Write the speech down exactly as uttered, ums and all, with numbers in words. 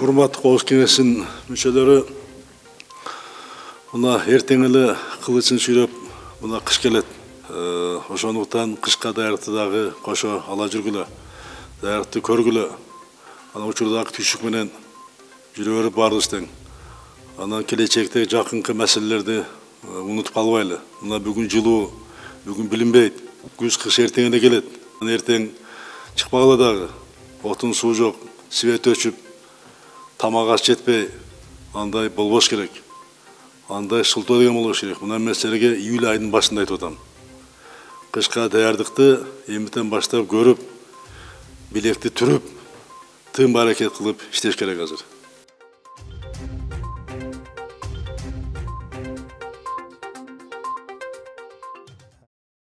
Урматтуу Коопсуздук кеңесинин мүчөлөрү, мына эртең эле кылычын сүйрөп мына кыш келет. Ошондуктан кышка даярдыкты дагы кошо ала жүргүлө, даярдыкты көргүлө. Ана учурдагы түйшүк менен жүрө берип баарыбыз тең. Анан келечекте жакынкы маселелерди унутуп калбайлы. Мына бүгүн жылуу, бүгүн билинбейт. Күз кыш эртең эле келет. Эртең чыкпагыла дагы. Отун суу жок, свет өчүп, тамак аш жетпей, андай болбош керек. Андай шылтоо деген болуш керек. Мына мен силерге июль айынын башында айтып атам. Кышка даярдыкты эмитен баштап көрүп, билекти түрүп, тым аракет кылып иштеш керек азыр.